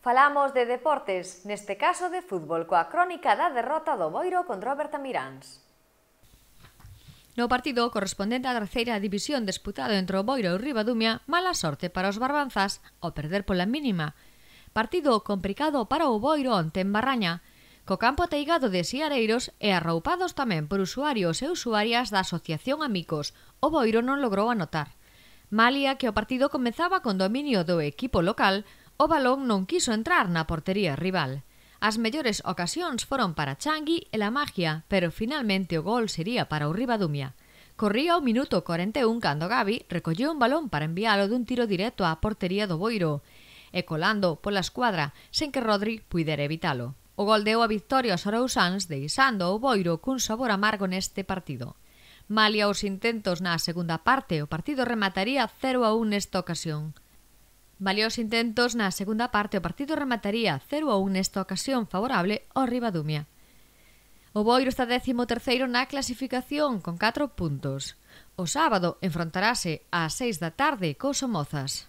Falamos de deportes, neste caso de fútbol, coa crónica da derrota do Boiro contra o Bertamiráns. No partido correspondente á terceira división disputado entre o Boiro e o Ribadumia, mala sorte para os barbanzás ao perder pola mínima. Partido complicado para o Boiro onte en Barraña, co campo ateigado de siareiros e arroupados tamén por usuarios e usuarias da Asociación Amigos. O Boiro non logrou anotar. Malia que o partido comezaba con dominio do equipo local, o balón non quiso entrar na portería rival. As mellores ocasións foron para Changui e La Magia, pero finalmente o gol sería para o Ribadumia. Corría o minuto 41 cando Gavi recolleu un balón para envialo dun tiro directo á portería do Boiro, e colando pola escuadra sen que Rodri puidera evitalo. O gol deu a victoria aos arousáns, deixando o Boiro cun sabor amargo neste partido. Malia os intentos na segunda parte, o partido remataría 0-1 nesta ocasión. Favorable ao Ribadumia. O Boiro está 13º na clasificación con 4 puntos. O sábado enfrontarase ás 6 da tarde cos Somozas.